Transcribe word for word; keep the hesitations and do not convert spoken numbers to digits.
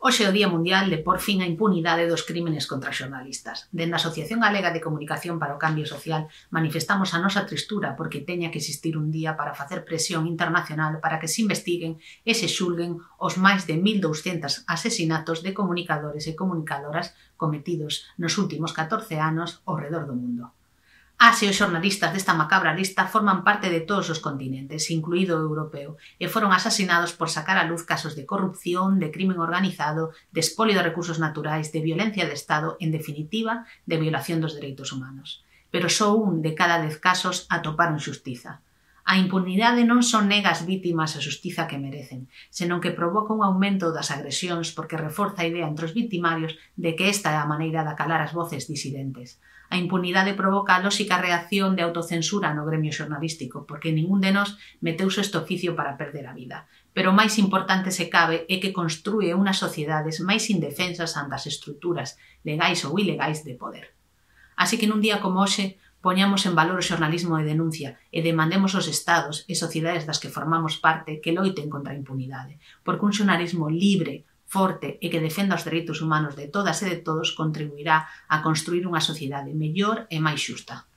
Hoxe é o Día Mundial de por fin a impunidade dos crímenes contra xornalistas. Dende a Asociación Galega de Comunicación para o Cambio Social manifestamos a nosa tristura porque teña que existir un día para facer presión internacional para que se investiguen e se xulguen os máis de mil douscentos asesinatos de comunicadores e comunicadoras cometidos nos últimos catorce anos ao redor do mundo. As e os xornalistas desta macabra lista forman parte de todos os continentes, incluído o europeo, e foron asasinados por sacar á luz casos de corrupción, de crimen organizado, de espolio de recursos naturais, de violencia de Estado, en definitiva, de violación dos dereitos humanos. Pero só un de cada dez casos atoparon xustiza. A impunidade non son nega as vítimas a xustiza que merecen, senón que provoca un aumento das agresións porque reforza a idea entre os victimarios de que esta é a maneira de acalar as voces disidentes. A impunidade provoca a lóxica reacción de autocensura no gremio xornalístico, porque ningún de nós meteuse este oficio para perder a vida. Pero o máis importante se cabe é que construe unhas sociedades máis indefensas ante as estruturas legais ou ilegais de poder. Así que nun día como hoxe, poñamos en valor o xornalismo de denuncia e demandemos aos estados e sociedades das que formamos parte que loiten contra a impunidade, porque un xornalismo libre, forte e que defenda os dereitos humanos de todas e de todos contribuirá a construir unha sociedade mellor e máis xusta.